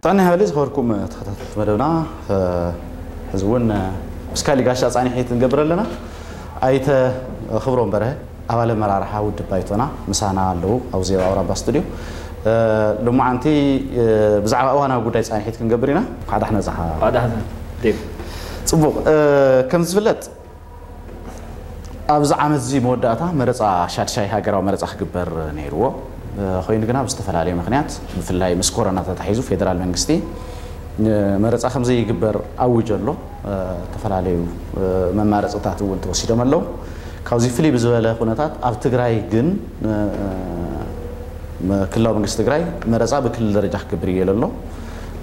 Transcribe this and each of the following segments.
ጥዕና ይሃበለይ ዝኸበርኩም ተኸታተልቲ መደብና፣ እ፣ ሕዚ እውን፣ እ፣ ምስ ካሊእ ጋሻ ጻኒሒት ንገብር ኣለና። ኣይተ ክብሮም በርሀ፣ ኣባል ኣመራርሓ ውድብ ባይቶና ምሳና ኣለዉ ኣብዚ ኣብ ኣውራምባ ስቱድዮ። እ፣ ሎማዓንቲ፣ እ፣ ብዛዕባ እዋናዊ ጉዳይ ጻኒሒት ክንገብር ኢና። እንኳዕ ደሓን መጻኻ። እንኳዕ ደሓን ዴቭ። ጽቡቕ፣ እ፣ ከም ዝፍለጥ ኣብዚ ዓመት እዚ መወዳእታ መረጻ ሻድሻይ ሃገራዊ መረጻ ክግበር ነይርዎ። እ፣ ኮይኑ ግና ብዝተፈላለየ ምኽንያት ብፍላይ ምስ ኮሮና ተታሒዙ ፌደራል መንግስቲ ንመረጻ ከም ዘይግበር ኣውጆ ኣሎ። እ፣ ዝተፈላለዩ፣ እ፣ መማረጽታት እውን ተወሲዶም ኣለዉ። ካብዚ ፍልይ ብዝበለ ኩነታት ኣብ ትግራይ ግን፣ እ፣ እ፣ መ-፣ ክልላዊ መንግስቲ ትግራይ መረጻ ብክልል ደረጃ ክግብር እዩ ኢሉ ኣሎ።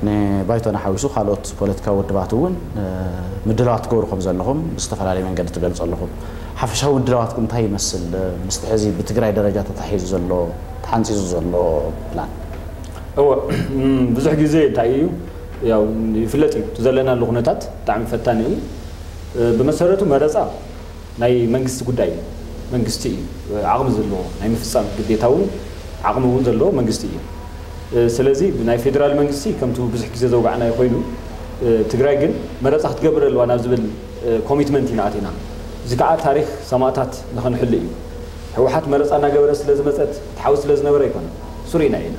ንባይቶና ሓዊሱ ካልኦት ፖለቲካዊ ውድባት እውን፣ እ፣ ምድላዋት ትገብሩ ከም ዘለኹም ብዝተፈላለየ መንገዲ ትገልጹ ኣለኹም። ሓፈሻዊ ምድላዋትኩም እንታይ ይመስል? እ፣ ምስቲ ሕዚ ብትግራይ ደረጃ ተታሒዙ ዘሎ፣ ተሓንጺጹ ዘሎ ፕላን? እወ፣ እም፣ ብዙሕ ግዜ እንታይ እዩ፣ ያው ይፍለጥ እዩ፣ እቲ ዘለናሉ ኩነታት ብጣዕሚ ፈታኒ እዩ። እ፣ ብመሰረቱ መረጻ ናይ መንግስቲ ጉዳይ እዩ። መንግስቲ እዩ ዓቕሚ ዘለዎ፣ ናይ ምፍጻም ግዴታ እውን ዓቕሚ እውን ዘለዎ መንግስቲ እዩ። እ፣ ስለዚ ናይ ፌደራል መንግስቲ ከምቲ ብዙሕ ግዜ ዘውጋዕናዮ ኮይኑ፣ እ፣ ትግራይ ግን መረጻ ክትገብር ኣለዋ ናብ ዝብል፣ እ፣ ኮሚትመንት ኢና ኣቲና። እዚ ከዓ ታሪኽ ሰማእታት ንኸንሕሉ እዩ። ህወሓት መረጻ እናገበረ ስለ ዝመጸት፣ ትሓውስ ስለ ዝነበረ ኣይኮነን። ሱር ኢና ኢና።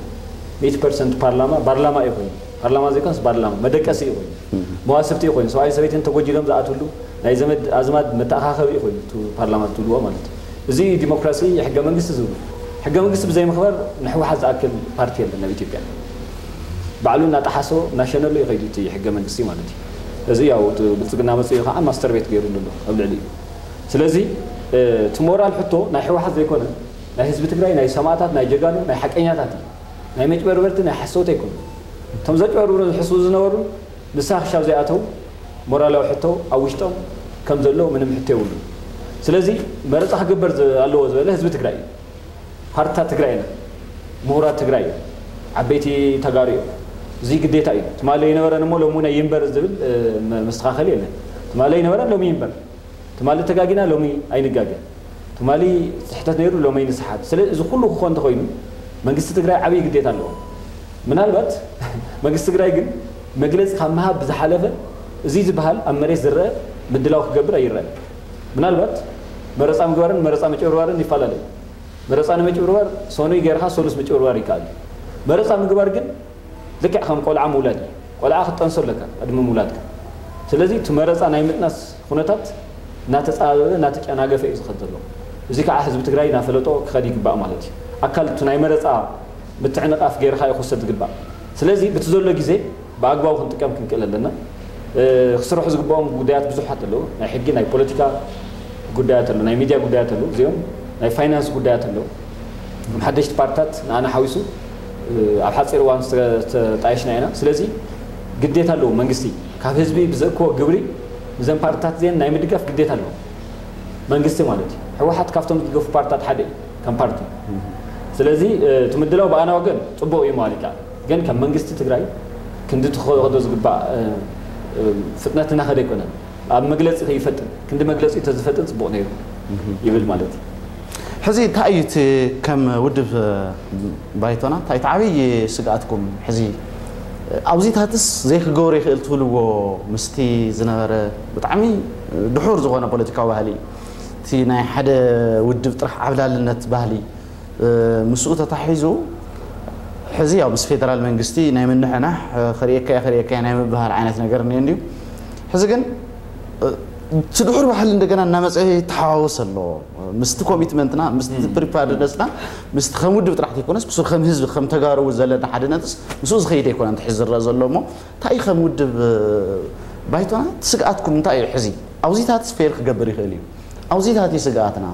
ሚእቲ ፐርሰንት ፓርላማ፣ ባርላማ እዩ ኮይኑ። ፓርላማ ዘይኮነስ ባርላማ፣ መደቀሲ እዩ ኮይኑ። መዋስብቲ እዩ ኮይኑ። ሰብኣይ ሰበይትን ተጎጂሎም ዝኣትውሉ፣ ናይ ዘመድ ኣዝማድ መተኣኻኸቢ እዩ ኮይኑ፣ እቲ ፓርላማ ትብልዎ ማለት እዩ። እዚ እዩ ዲሞክራሲ፣ ሕገ መንግስቲ ዝብሉ። ሕገ መንግስቲ ብዘይምኽባር ንህወሓት ዝኣክል ፓርቲ የለን ኣብ ኢትዮጵያ። ባዕሉ እናጠሓሶ፣ እናሸነሉ እዩ ከይዱ እቲ ሕገ መንግስቲ ማለት እዩ። እዚ ያው እቲ ብልጽግና መጽኡ ከዓ ማስተር ቤት ገይሩሉ ኣሎ ኣብ ልዕሊኡ። ስለዚ፣ እ፣ እቲ ሞራል ሕቶ ናይ ህወሓት ዘይኮነ፣ ናይ ህዝቢ ትግራይ፣ ናይ ሰማእታት፣ ናይ ጀጋኑ፣ ናይ ሓቀኛታት እዩ። ናይ መጭበርበርቲ፣ ናይ ሓሰውቲ ኣይኮኑ። እቶም ዘጭበርብሩ ዝሕስቡ ዝነበሩ ንስኻ ክሻብ ዘይኣተው ሞራላዊ ሕቶ ኣብ ውሽጦም ከም ዘሎ ምንም ሕቶ የብሉን። ስለዚ መረጻ ክግበር ዝ-፣ ኣለዎ ዝበለ ህዝቢ ትግራይ እዩ። ፓርትታት ትግራይ ኢና፣ ምሁራት ትግራይ እዮም፣ ዓበይቲ ተጋሩ እዮም። እዚ ግዴታ እዩ። ትማሊ ኣይነበረን እሞ ሎሚ እውን ኣይንበር ዝብል፣ እ፣ መ-፣ መስተኻኸሊ የለን። ትማሊ ኣይነበረን ሎሚ ይንበር። ትማሊ ተጋጊና ሎሚ ኣይንጋገ። ትማሊ ስሕተት ነይሩ ሎሚ ኣይንስሓት። ስለ እዚ ኩሉ ክኾን እንተኾይኑ መንግስቲ ትግራይ ዓብዪ ግዴታ ኣለዎ። ምናልባት መንግስቲ ትግራይ ግን መግለፂ ካብ ምሃብ ብዝሓለፈ እዚ ዝበሃል ኣብ መሬት ዝረአ ምድላው ክገብር ኣይረአን። ምናልባት መረፃ ምግባርን መረፃ ምጭብርባርን ይፈላለዩ። መረፃ ንምጭብርባር ሰኑይ ጌርካ ሰሉስ ምጭብርባር ይከኣል እዩ። መረፃ ምግባር ግን ልክዕ ከም ቆልዓ ምውላድ እዩ። ቆልዓ ክትጠንሶ ኣለካ ቅድሚ ምውላድካ። ስለዚ እቲ መረፃ ናይ ምጥናስ ኩነታት እናተፃበበ እናተጨናገፈ እዩ ዝኸድ ዘሎ። እዚ ከዓ ህዝቢ ትግራይ እናፈለጦ ክኸድ ይግባእ ማለት እዩ። ኣካል እቲ ናይ መረፃ ምትዕንቓፍ ጌርካ እዩ ክውሰድ ዝግባእ። ስለዚ በቲ ዘሎ ግዜ ብኣግባቡ ክንጥቀም ክንክእል ኣለና። እ፣ ክስርሑ ዝግባኦም ጉዳያት ብዙሓት ኣለዉ። ናይ ሕጊ፣ ናይ ፖለቲካ ጉዳያት ኣለዉ፣ ናይ ሚድያ ጉዳያት ኣለዉ፣ እዚኦም ናይ ፋይናንስ ጉዳያት ኣለዉ። እቶም ሓደሽቲ ፓርትታት ንኣና ሓዊሱ፣ እ፣ ኣብ ሓፂር እዋን ዝተ-፣ ዝተጣየሽና ኢና። ስለዚ ግዴታ ኣለዎ መንግስቲ ካብ ህዝቢ ብዘእክቦ ግብሪ እዘን ፓርትታት እዚአን ናይ ምድጋፍ ግዴታ ኣለዎ መንግስቲ ማለት እዩ። ህወሓት ካብቶም ዝድገፉ ፓርትታት ሓደ እዩ ከም ፓርቲ። ስለዚ፣ እ፣ እቲ ምድላው ብኣና ወገን ፅቡቕ እዩ ማለት ይከኣል። ግን ከም መንግስቲ ትግራይ ክንዲ ትኸዶ ዝግባእ፣ እ፣ እ፣ ፍጥነት እናኸደ ኣይኮነን። ኣብ መግለፂ ከይፈጥን፣ ክንዲ መግለፂ ተዝፈጥን ፅቡቕ ነይሩ ይብል ማለት እዩ። ሕዚ እንታይ እዩ እቲ ከም ውድብ፣ እ፣ ባይቶና እንታይ እቲ ዓብዪ ስግኣትኩም? ሕዚ፣ እ፣ ኣብዚታትስ ዘይክገብሮ ይኽእል ትብልዎ ምስቲ ዝነበረ ብጣዕሚ ድሑር ዝኾነ ፖለቲካዊ ባህሊ፣ እቲ ናይ ሓደ ውድብ ጥራሕ ዓብላልነት ባህሊ፣ እ፣ ምስኡ ተታሒዙ ሕዚ ያው ምስ ፌደራል መንግስቲ ናይ ምንሕናሕ፣ እ፣ ክርእየካ እየ፣ ክርእየካ እየ ናይ ምብሃል ዓይነት ነገር እኒኦ እንድዩ። ሕዚ ግን፣ እ፣ እቲ ድሑር ባህሊ እንደገና እናመፀ ይተሓዋወስ ኣሎ። ምስቲ ኮሚትመንትና፣ ምስቲ ፕሪፓርድነስና፣ ምስቲ ከም ውድብ ጥራሕ ዘይኮነስ፣ ብሱር ከም ህዝቢ፣ ከም ተጋሩ እውን ዘለና ሓድነትስ ምስኡ ዝኸይድ ኣይኮነን፣ እቲ ሕዚ ዝረአ ዘሎ እሞ፣ እንታይ እዩ ከም ውድብ፣ እ፣ ባይቶና እቲ ስግኣትኩም እንታይ እዩ? ሕዚ ኣብዚታት ፌል ክገብር ይኽእል እዩ። ኣብዚታት እዩ ስግኣትና።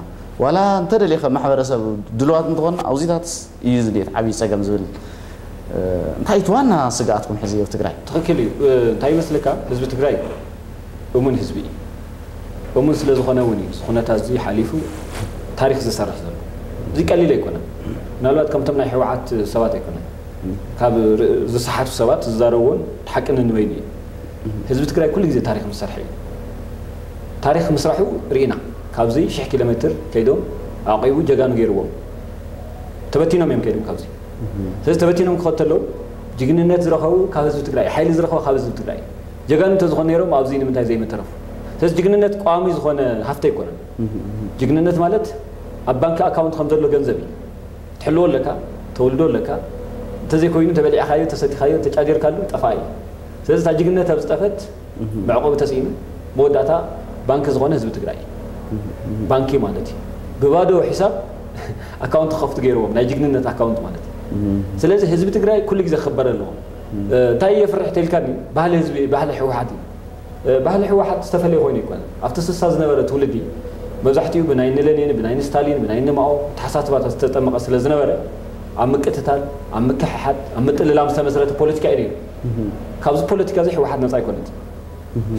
ዋላ እንተደልየ ከም ማሕበረሰብ ድልዋት እንተኾንና፣ ኣብዚታትስ እዩ ዝድየት ዓብዪ ጸገም ዝብል፣ እ፣ እንታይ እቲ ዋና ስግኣትኩም ሕዚ ኣብ ትግራይ? ትኽክል እዩ። እ፣ እንታይ ይመስለካ፣ ህዝቢ ትግራይ እሙን ህዝቢ እዩ። እሙን ስለ ዝኾነ እውን እዩ፣ እዚ ኩነታት እዚ ሓሊፉ ታሪኽ ዝሰርሕ ዘሎ። እዚ ቀሊል ኣይኮነን። ምናልባት ከምቶም ናይ ህወሓት ሰባት ኣይኮነን። ካብ ር-፣ ዝሰሓቱ ሰባት ዝዛረብዎን ሓቂ ነንበይኑ እዩ። ህዝቢ ትግራይ ኩሉ ግዜ ታሪኽ ምስ ሰርሐ እዩ። ታሪኽ ምስራሑ ርኢና። ካብዚ ሽሕ ኪሎ ሜትር ከይዶም ኣዕቂቡ ጀጋኑ ገይርዎም። ተበቲኖም እዮም ከይዶም ካብዚ። ስለዚ ተበቲኖም ክኸዱ ተለዉ ጅግንነት ዝረኸቡ ካብ ህዝቢ ትግራይ፣ ሓይሊ ዝረኸቡ ካብ ህዝቢ ትግራይ። ጀጋኑ እንተዝኾኑ ነይሮም ኣብዚ ንምንታይ ዘይምተረፉ? ስለዚ ጅግንነት ቋሚ ዝኾነ ሃፍቲ ኣይኮነን። ጅግንነት ማለት ኣብ ባንክ ኣካውንት ከም ዘሎ ገንዘብ እዩ። ትሕልዎ ኣለካ፣ ተወልዶ ኣለካ። እንተዘይኮይኑ ተበሊዕካዮ፣ ተሰቲኻዮ፣ ተጫዲርካሉ ጠፋ እዩ። ስለዚ እታ ጅግንነት ኣብ ዝጠፈት መዕቆቢ ተስኢኑ መወዳእታ ባንክ ዝኾነ ህዝቢ ትግራይ እዩ። ባንኪ ማለት እዩ። ብባዶ ሒሳብ ኣካውንት ክኸፍቱ ገይርዎም፣ ናይ ጅግንነት ኣካውንት ማለት እዩ። ስለዚ ህዝቢ ትግራይ ኩሉ ግዜ ክኽበር ኣለዎ። እንታይ የፍርሕ ተልካኒ? ባህሊ ህዝቢ፣ ባህሊ ህወሓት እዩ። ባህሊ ህወሓት ዝተፈለየ ኮይኑ ይኮነ። ኣብቲ ስሳ ዝነበረ ትውልዲ መብዛሕትኡ ብናይ ንለኒን፣ ብናይ ንስታሊን፣ ብናይ ንማኦ ተሓሳስባታት ዝተጠመቐ ስለ ዝነበረ ኣብ ምቅትታል፣ ኣብ ምክሕሓት፣ ኣብ ምጥልላም ዝተመስረተ ፖለቲካ እዩ ነይሩ። ካብዚ ፖለቲካ እዚ ህወሓት ነፃ ኣይኮነት።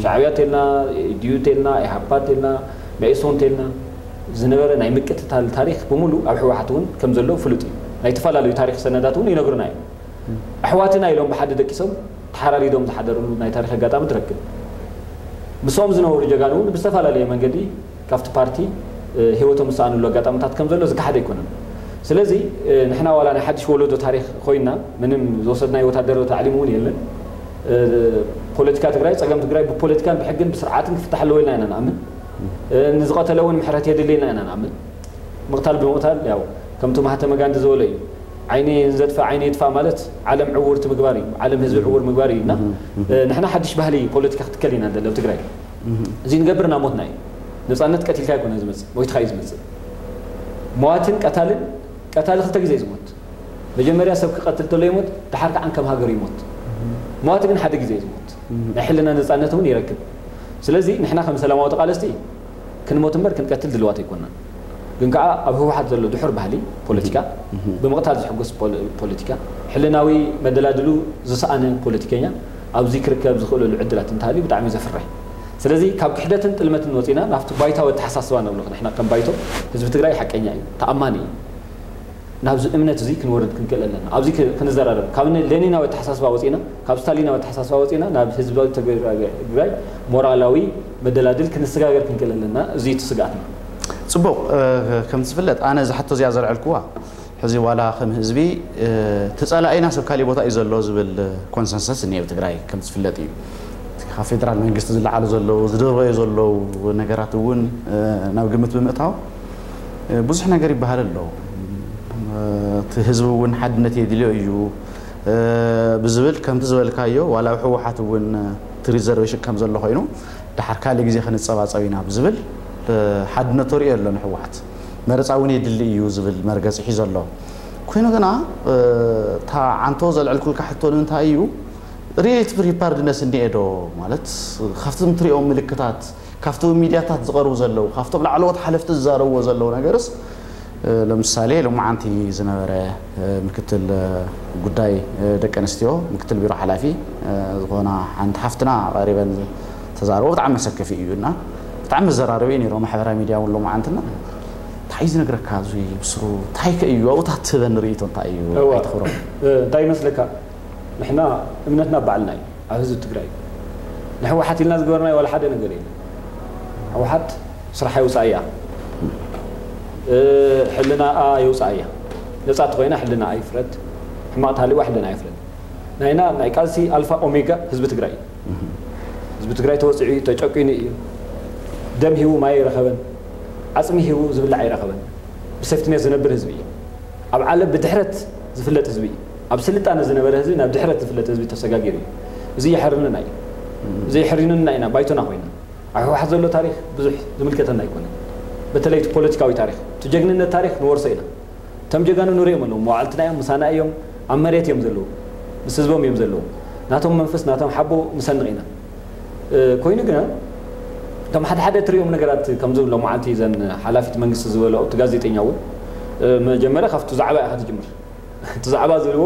ሻዕብያ ተልና፣ ኢዲዩ ተልና፣ ኢሃፓ ተልና፣ መኢሶን ተልና ዝነበረ ናይ ምቅትታል ታሪክ ብምሉ ኣብ ህወሓት እውን ከም ዘሎ ፍሉጥ እዩ። ናይ ዝተፈላለዩ ታሪክ ሰነዳት እውን ይነግሩና እዮም። ኣሕዋትና ኢሎም ብሓደ ደቂሶም ተሓራሪዶም ዝሓደርሉ ናይ ታሪክ ኣጋጣሚ ትረክብ። ምስኦም ዝነበሩ ጀጋኑ እውን ብዝተፈላለየ መንገዲ ካብቲ ፓርቲ ህይወቶም ዝሰኣንሉ ኣጋጣሚታት ከም ዘሎ ዝከሓደ ኣይኮነን። ስለዚ ንሕና ዋላ ናይ ሓድሽ ወለዶ ታሪክ ኮይና ምንም ዝወሰድናዮ ወታደራዊ ታዕሊም እውን የለን። ፖለቲካ ትግራይ፣ ፀገም ትግራይ ብፖለቲካን ብሕግን ብስርዓትን ክፍታሕ ኣለዎ ኢልና ኢና ንኣምን። ንዝቐተለ እውን ምሕረት የድሊ ኢልና ኢና ንኣምን። ምቕታል ብምቕታል ያው ከምቲ ማህተመ ጋንዲ ዝበሎ እዩ። ዓይኒ ንዘጥፍእ ዓይኒ ይጥፋእ ማለት ዓለም ዕውርቲ ምግባር እዩ፣ ዓለም ህዝቢ ዕውር ምግባር እዩ። እና ንሕና ሓድሽ ባህሊ ፖለቲካ ክትከል ኢና ንደሊ ኣብ ትግራይ። እዚ ንገብር እናሞትና እዩ። ነፃነት ቀቲልካ ኣይኮነን ዝመፅእ፣ ሞይትካ እዩ ዝመፅእ። መዋትን ቀታልን፣ ቀታሊ ክልተ ግዜ እዩ ዝሞት። መጀመርያ ሰብ ክቐትል ተሎ ይሞት፣ ድሓር ከዓ ከም ሃገር ይሞት። መዋቲ ግን ሓደ ግዜ እዩ ዝሞት። ናይ ሕልና ነፃነት እውን ይረክብ። ስለዚ ንሕና ከም ሰላማዊ ተቓለስቲ ክንሞት እምበር ክንቀትል ድልዋት ኣይኮናን። ግን ከዓ ኣብ ህወሓት ዘሎ ድሑር ባህሊ ፖለቲካ፣ ብምቕታል ዝሕጎስ ፖለቲካ፣ ሕልናዊ መደላድሉ ዝሰኣነ ፖለቲከኛ ኣብዚ ክርከብ ዝኽእለሉ ዕድላት እንተሃልዩ ብጣዕሚ ዘፍርሕ። ስለዚ ካብ ክሕደትን ጥልመትን ወፂና ናብቲ ባይታዊ ኣተሓሳስባ ነብሎ ንሕና ከም ባይቶ ህዝቢ ትግራይ ሓቀኛ እዩ፣ ተኣማኒ እዩ። ናብዚ እምነት እዚ ክንወርድ ክንክእል ኣለና። ኣብዚ ክንዘራረብ ካብ ሌኒናዊ ኣተሓሳስባ ወፂና፣ ካብ ስታሊናዊ ኣተሓሳስባ ወፂና ናብ ህዝባዊ ትግራይ ሞራላዊ መደላድል ክንሰጋገር ክንክእል ኣለና። እዚ እቲ ስግኣትና። ፅቡቕ። ከምቲ ዝፍለጥ ኣነ እዛ ሕቶ እዚኣ ዘልዐልኩዋ ሕዚ ዋላ ከም ህዝቢ እቲ ጸላኢና ሰብ ካሊእ ቦታ እዩ ዘሎ ዝብል ኮንሰንሰስ እኒኤ ኣብ ትግራይ ከም ዝፍለጥ እዩ። ካብ ፌደራል መንግስቲ ዝለዓሉ ዘለዉ ዝደርበዩ ዘለዉ ነገራት እውን ናብ ግምት ብምእታው ብዙሕ ነገር ይበሃል ኣሎ። እቲ ህዝቢ እውን ሓድነት የድልዮ እዩ ብዝብል ከምቲ ዝበልካዮ ዋላ ኣብ ህወሓት እውን እቲ ሪዘርቬሽን ከም ዘሎ ኮይኑ ድሓር ካልእ ግዜ ክንጸባጸብ ኢና ብዝብል ሓድነት ተሪኦ ኣሎ ንህወሓት። መረፃ እውን የድሊ እዩ ዝብል መርገፂ ሒዞ ኣሎ። ኮይኑ ግና እታ ዓንቶ ዘልዕልኩልካ ሕቶ ንምንታይ እዩ ሪሌቲቭ ፕሪፓርድነስ እኒኤ ዶ ማለት ካብቶም ትሪኦም ምልክታት ካብቶም ሚድያታት ዝቐርቡ ዘለዉ ካብቶም ላዕለዎት ሓለፍቲ ዝዛረብዎ ዘለዉ ነገርስ ለምሳሌ ሎማዓንቲ ዝነበረ ምክትል ጉዳይ ደቂ ኣንስትዮ ምክትል ቢሮ ሓላፊ ዝኾና ሓንቲ ሓፍትና ቀሪበን ተዛረቦ ብጣዕሚ መሰከፊ እዩ እና ብጣዕሚ መዘራረቢ እዩ ነይሩ ማሕበራዊ ሚድያ እውን ሎማዓንትና እንታይ እዩ ዝነግረካ እዚ ብስሩ እንታይ ከ እዩ ኣብኡታት ትህበኒ ርእይቶ እንታይ እዩ ኣይትኽብሮ እንታይ ይመስለካ ንሕና እምነትና ባዕልና እዩ ኣብ ህዝቢ ትግራይ ንሕወሓት ኢልና ዝገበርናዮ ዋላ ሓደ ነገር የለን ህወሓት ስርሓ የውፃእ እያ ሕልናኣ የውፃእ እያ ነፃ ተኮይና ሕልናኣ ይፍረድ ሕማቕ ተሃልዋ ሕልና ይፍረድ ናይና ናይ ቃልሲ ኣልፋ ኦሜጋ ህዝቢ ትግራይ እዩ ህዝቢ ትግራይ ተወፂዑ እዩ ተጨቂኑ እዩ ደም ሂቡ ማይ ኣይረኸበን ዓፅሚ ሂቡ ዝብላዕ ኣይረኸበን ብሴፍትኔት ዝነብር ህዝቢ እዩ ኣብ ዓለም ብድሕረት ዝፍለጥ ህዝቢ እዩ ኣብ ስልጣነ ዝነበረ ህዝቢ ናብ ድሕረት ዝፍለጥ ህዝቢ ተሰጋጊሩ እዩ እዚ የሕርንና እዩ እዚ የሕሪንና ኢና ባይቶና ኮይና ኣብ ህወሓት ዘሎ ታሪክ ብዙሕ ዝምልከተና ኣይኮነን በተለይ እቲ ፖለቲካዊ ታሪክ እቲ ጀግንነት ታሪክ ንወርሶ ኢና እቶም ጀጋኑ ንሪኦም ኣለዉ መዋዕልትና እዮም ምሳና እዮም ኣብ መሬት እዮም ዘለዉ ምስ ህዝቦም እዮም ዘለዉ ናቶም መንፈስ ናቶም ሓቦ ንሰንቕ ኢና ኮይኑ ግና እቶም ሓደ ሓደ ትሪኦም ነገራት ከምዚ ሎመዓልቲ ዘን ሓላፊት መንግስቲ ዝበለኦ እቲ ጋዜጠኛ እውን መጀመርያ ካብቲ ዛዕባ ኢኻ ትጅምር እቲ ዛዕባ ዝብልዎ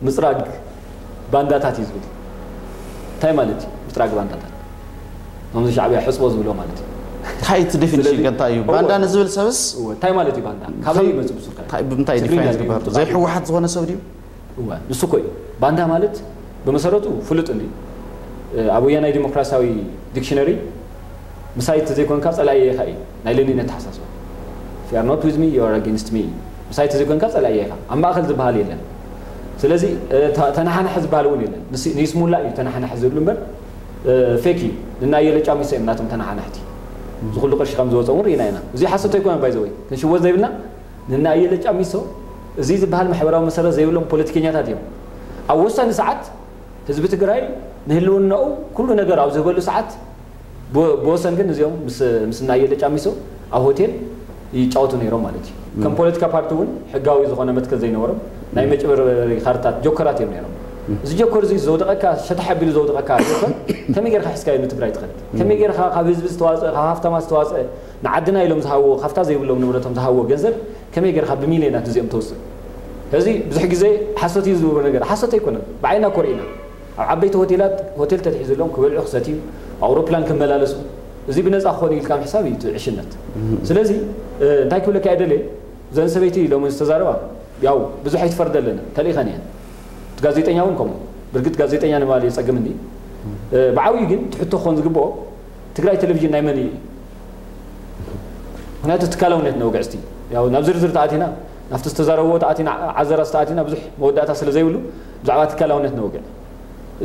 ምፅራግ ባንዳታት እዩ ዝብል እንታይ ማለት እዩ ምፅራግ ባንዳታት ከምዚ ሻዕብያ ሕፅቦ ዝብሎ ማለት እዩ እንታይ እቲ ዴፊኒሽን ከ እንታይ እዩ ባንዳ ንዝብል ሰብስ እንታይ ማለት እዩ ባንዳ ካበይ ይመፅእ ብሱልካ እንታይ ብምንታይ ትግርኛ ዲፋይን ድዩ? ዝግበር ዘይሕወሓት ዝኾነ ሰብ ድዩ እዋ ንሱ እኮ እዩ ባንዳ ማለት ብመሰረቱ ፍሉጥ እንዲ ኣብ ወያናይ ዲሞክራሲያዊ ዲክሽነሪ ምሳይ ተዘይኮንካ ፀላኢ ኢኻ እዩ ናይ ሌኒን ኣተሓሳስባ If you are not with me, you are against me ምሳይ ተዘይኮንካ ፀላኢ ኢኻ ኣብ ማእኸል ዝበሃል የለን ስለዚ ተናሓናሒ ዝበሃል እውን የለን። ንይስሙላ እዩ ተናሓናሒ ዝብሉ እምበር፣ ፌክ እዩ። ንናየለ ጫሚሶ እዮም ናቶም ተናሓናሕቲ። እዚ ኩሉ ቅርሺ ከም ዝወፀ እውን ርኢና ኢና። እዚ ሓሶት ኣይኮነን። ባይዘወይ ክንሽወ ዘይብልና፣ ንናየለ ጫሚሶ እዚ ዝበሃል ማሕበራዊ መሰረት ዘይብሎም ፖለቲከኛታት እዮም። ኣብ ወሳኒ ሰዓት ህዝቢ ትግራይ ንህልውናኡ ኩሉ ነገር ኣብ ዝህበሉ ሰዓት፣ ብወሰን ግን እዚኦም ምስ ናየለ ጫሚሶ ኣብ ሆቴል ይጫወቱ ነይሮም ማለት እዩ። ከም ፖለቲካ ፓርቲ እውን ሕጋዊ ዝኾነ መትከል ዘይነበሮም፣ ናይ መጭበርበሪ ካርታት ጆከራት እዮም ነይሮም። እዚ ጆከር እዚ ዘውደቐካ፣ ሸታሕ ኣቢሉ ዘውደቐካ ጆከር ከመይ ጌርካ ሒዝካዮ ንትግራይ ትኸድ? ከመይ ጌርካ ካብ ህዝቢ ዝተዋፅአ፣ ካብ ሃፍታማ ዝተዋፅአ፣ ንዓድና ኢሎም ዝሃብዎ፣ ካብታ ዘይብሎም ንብረቶም ዝሃብዎ ገንዘብ ከመይ ጌርካ ብሚልዮናት እዚኦም ተውፅእ? እዚ ብዙሕ ግዜ ሓሶት እዩ ዝብሉ ነገር ሓሶት ኣይኮነን። ብዓይና ኮሪእና ኣብ ዓበይቲ ሆቴላት፣ ሆቴል ተትሒዝሎም ክበልዑ ክሰትዩ፣ ኣውሮፕላን ክመላለሱ፣ እዚ ብነፃ ክኾኑ ኢልካ ምሕሳብ እዩ እቲ ዕሽነት። ስለዚ እንታይ ክብለካ እየ ደልየ፣ እዘን ሰበይቲ ሎሚ ዝተዛረባ ያው ብዙሕ ኣይትፈርደለን፣ ተልኢኸን እየን። እቲ ጋዜጠኛ እውን ከምኡ። ብርግጥ ጋዜጠኛ ንምባል የፀግም እንዲ። ብዓብዩ ግን እቲ ሕቶ ክኾን ዝግብኦ፣ ትግራይ ቴሌቪዥን ናይ መን እዩ? ምክንያቱ ትካላውነት ነውግዕ። እስቲ ያው ናብ ዝርዝር ተኣቲና፣ ናብቲ ዝተዛረብዎ ተኣቲና፣ ዓዘራ ዝተኣቲና ብዙሕ መወዳእታ ስለ ዘይብሉ ብዛዕባ ትካላውነት ነውግዕ።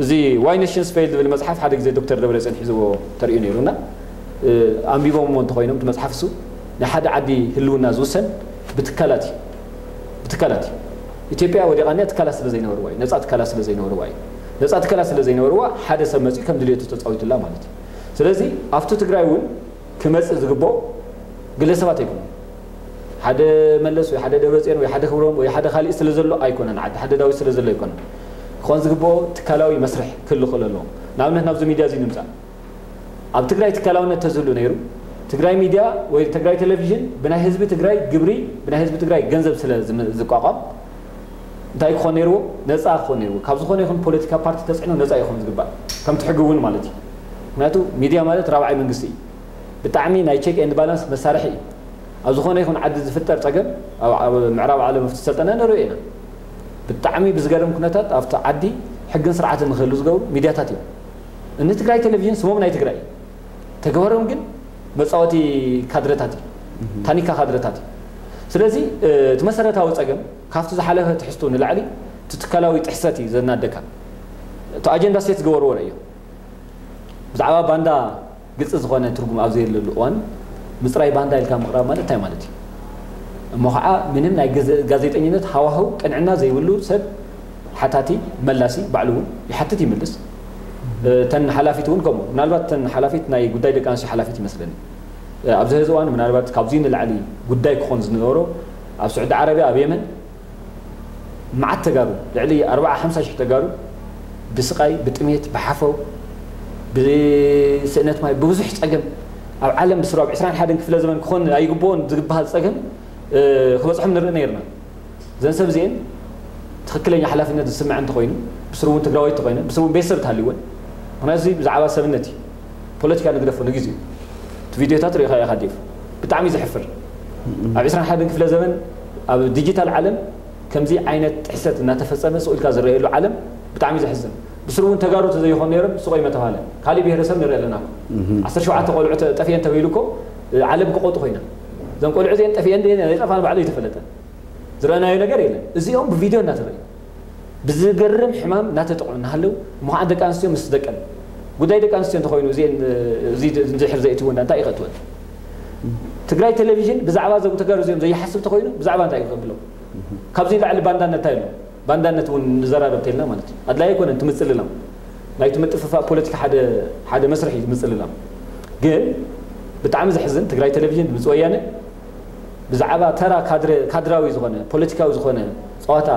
እዚ ዋይ ኔሽንስ ፌል ዝብል መፅሓፍ ሓደ ግዜ ዶክተር ደብረፅዮን ሒዝዎ ተርእዩ ነይሩ እና፣ ኣንቢቦምዎ እንተኾይኖም እቲ መፅሓፍ እሱ ናይ ሓደ ዓዲ ህልውና ዝውሰን ብትካላት እዩ። ብትካላት እዩ። ኢትዮጵያ ወዲቓ እኒኣ ትካላት ስለ ዘይነበርዋ እዩ። ነፃ ትካላት ስለ ዘይነበርዋ እዩ። ነፃ ትካላት ስለ ዘይነበርዋ ሓደ ሰብ መፂኡ ከም ድልየቱ ተፃዊቱላ ማለት እዩ። ስለዚ ኣብቲ ትግራይ እውን ክመፅእ ዝግብኦ ግለሰባት ኣይኮኑን። ሓደ መለስ ወይ ሓደ ደብረፅዮን ወይ ሓደ ክብሮም ወይ ሓደ ካሊእ ስለ ዘሎ ኣይኮነን። ዓዲ ሓደ ዳዊት ስለ ዘሎ ኣይኮነን። ክኾን ዝግብኦ ትካላዊ መስርሕ ክህሉ ክኽእል ኣለዎ። ንኣብነት ናብዚ ሚድያ እዚ ንምፃእ። ኣብ ትግራይ ትካላውነት ተዝህሉ ነይሩ፣ ትግራይ ሚድያ ወይ ትግራይ ቴሌቪዥን ብናይ ህዝቢ ትግራይ ግብሪ፣ ብናይ ህዝቢ ትግራይ ገንዘብ ስለ ዝም- ዝቋቋም እንታይ ክኾን ነይርዎ? ነፃ ክኾን ነይርዎ። ካብ ዝኾነ ይኹን ፖለቲካ ፓርቲ ተፅዕኖ ነፃ ይኾን ዝግባእ። ከምቲ ሕጊ እውን ማለት እዩ። ምክንያቱ ሚድያ ማለት ራብዓይ መንግስቲ እዩ። ብጣዕሚ ናይ ቼክ ኤንድ ባላንስ መሳርሒ እዩ። ኣብ ዝኾነ ይኹን ዓዲ ዝፍጠር ፀገም፣ ኣብ ኣብ ምዕራብ ዓለም ኣብቲ ዝሰልጠነ ንሪኦ ኢና። ብጣዕሚ ብዝገርም ኩነታት ኣብቲ ዓዲ ሕግን ስርዓትን ንክህሉ ዝገብሩ ሚድያታት እዮም። እኒ ትግራይ ቴሌቪዥን ስሞም ናይ ትግራይ እዩ። ተግባሮም ግን መፃወቲ ካድረታት እዩ። ታኒካ ካድረታት እዩ። ስለዚ እቲ መሰረታዊ ፀገም ካብቲ ዝሓለፈ ትሕዝቶ ንላዕሊ እቲ ትካላዊ ጥሕሰት እዩ ዘናደካ። እቲ ኣጀንዳ ሴት ዝገበርዎ እዮም። ብዛዕባ ባንዳ ግልፂ ዝኾነ ትርጉም ኣብ ዘየለሉ እዋን ምፅራይ ባንዳ ኢልካ ምቕራብ ማለት እንታይ ማለት እዩ? እሞ ከዓ ምንም ናይ ገዘ- ጋዜጠኝነት ሃዋህው ቅንዕና ዘይብሉ ሰብ ሓታቲ መላሲ ባዕሉ እውን ይሓትት ይምልስ። እተን ሓላፊት እውን ከምኡ። ምናልባት እተን ሓላፊት ናይ ጉዳይ ደቂ ኣንስትዮ ሓላፊት ይመስለኒ። ኣብዚ ሕዚ እዋን ምናልባት ካብዚ ንላዕሊ ጉዳይ ክኾን ዝነበሮ ኣብ ስዑዲ ዓረብያ፣ ኣብ የመን መዓት ተጋሩ፣ ልዕሊ ኣርብዓ ሓምሳ ሽሕ ተጋሩ ብስቓይ፣ ብጥሜት፣ ብሓፈው፣ ብስእነት ማይ፣ ብብዙሕ ፀገም ኣብ ዓለም ብስሩ ኣብ ዕስራን ሓደን ክፍለ ዘመን ክኾን ኣይግብኦን ዝግበሃል ፀገም ክበፅሖም ንርኢ ነይርና። እዘን ሰብ እዚአን ትኽክለኛ ሓላፍነት ዝስምዐን እንተኾይኑ፣ ብስሩ እውን ትግራዋይ እንተኾይነ፣ ብስሩ እውን ቤተሰብ ተሃልይወን። ምክንያቱ እዚ ብዛዕባ ሰብነት እዩ። ፖለቲካ ንግደፎ ንግዜኡ። እቲ ቪድዮታት ሪኢኻ ኢኻ ዴቭ። ብጣዕሚ ዘሕፍር። ኣብ ዕስራን ሓደን ክፍለ ዘመን ኣብ ዲጂታል ዓለም ከምዚ ዓይነት ጥሕሰት እናተፈጸመ ስቕ ኢልካ ዝረኣየሉ ዓለም ብጣዕሚ ዘሕዝን። ብስሩ እውን ተጋሩ ተዘይኾኑ ነይሮም ስቆይ መተባለ። ካሊእ ብሄረሰብ ንርኢ ኣለና እኮ። ዓሰርተ ሸውዓተ ቆልዑ ተ- ጠፊኤን ተባሂሉ እኮ ዓለም ክቆጡ ኮይና። እዘን ቆልዑ እዚአን ጠፊኤን ድየን ኣይጠፋን ባዕሉ ኣይተፈለጠ። ዝረኣናዮ ነገር የለን። እዚኦም ብቪድዮ እናተረኣዩ ብዝገርም ሕማም እናተጠቕዑ እናሃለዉ እሞ ከዓ ደቂ ኣንስትዮ ምስ ደቀን ጉዳይ ደቂ ኣንስትዮ እንተኾይኑ እዚአን እዚ እንድሕር ዘእትወና እንታይ ይኸእትወን? ትግራይ ቴሌቪዥን ብዛዕባ እዞም ተጋሩ እዚኦም ዘይሓስብ እንተኾይኑ ብዛዕባ እንታይ እዩ ከብሎም? ካብዚ ንላዕሊ ባንዳነት እንታይ ኣሎ? ባንዳነት እውን ንዘራረብ ተልና ማለት እዩ። ኣድላይ ኣይኮነን እቲ ምፅልላም። ናይቲ ምጥፍፋእ ፖለቲካ ሓደ ሓደ መስርሕ እዩ ምፅልላም። ግን ብጣዕሚ ዘሕዝን ትግራይ ቴሌቪዥን ድምፂ ወያነ ብዛዕባ ተራ ካድረ ካድራዊ ዝኾነ ፖለቲካዊ ዝኾነ ፀዋታ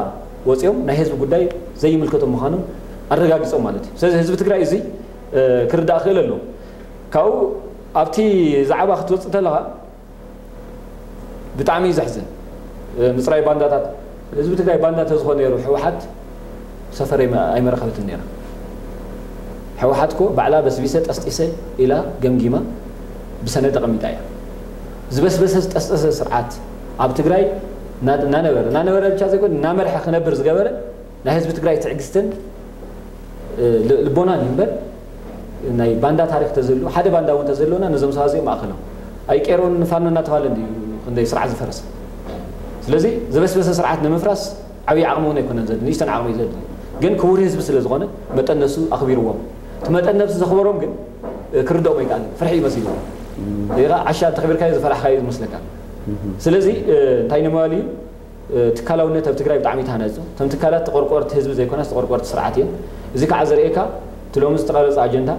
ወፂኦም ናይ ህዝቢ ጉዳይ ዘይምልከቶም ምዃኖም ኣረጋጊፆም ማለት እዩ። ስለዚ ህዝቢ ትግራይ እዚ ክርዳእ ክእል ኣለዎ። ካብኡ ኣብቲ ዛዕባ ክትወፅእ እንተለኻ ብጣዕሚ እዩ ዘሕዝን። ምፅራይ ባንዳታት ህዝቢ ትግራይ ባንዳ ተዝኾነ ነይሩ ህወሓት ሰፈር ኣይመ- ኣይመረኸበትን ነይራ። ህወሓት እኮ ባዕላ በስቢሰ ጠስጢሰ ኢላ ገምጊማ ብሰነድ ኣቐሚጣ እያ። ዝበስበሰ ዝጠስጠሰ ስርዓት ኣብ ትግራይ እና- እናነበረ እናነበረ ብቻ ዘይኮነ እናመርሐ ክነብር ዝገበረ ናይ ህዝቢ ትግራይ ትዕግስትን ል- ልቦናን እዩ እምበር ናይ ባንዳ ታሪክ ተዘሉ ሓደ ባንዳ እውን ተዘሎና ነዞም ሰባት እዚኦም ማእኸሎም ኣይቄሮን ፋኖ እናተባለ እንዲ ክንደይ ስርዓት ዝፈረሰ። ስለዚ ዝበስበሰ ስርዓት ንምፍራስ ዓብዪ ዓቕሚ እውን ኣይኮነን ዘድሊ፣ ንእሽተን ዓቕሚ እዩ ዘድሊ። ግን ክቡር ህዝቢ ስለ ዝኾነ መጠን ነሱ ኣኽቢርዎም። እቲ መጠን ነብሲ ዘኽበሮም ግን ክርድኦም ኣይከኣልን። ፍርሒ እዩ መሲልዎም። ሌላ ዓሻ እንተኽቢርካዮ ዝፈራሕካዮ ዝመስለካ። ስለዚ እንታይ ንምባል እዩ? ትካላውነት ኣብ ትግራይ ብጣዕሚ ተሃነፁ። እቶም ትካላት ተቆርቆርቲ ህዝቢ ዘይኮናስ ተቆርቆርቲ ስርዓት እዮም። እዚ ከዓ ዘርእየካ እቲ ሎሚ ዝተቐረፀ ኣጀንዳ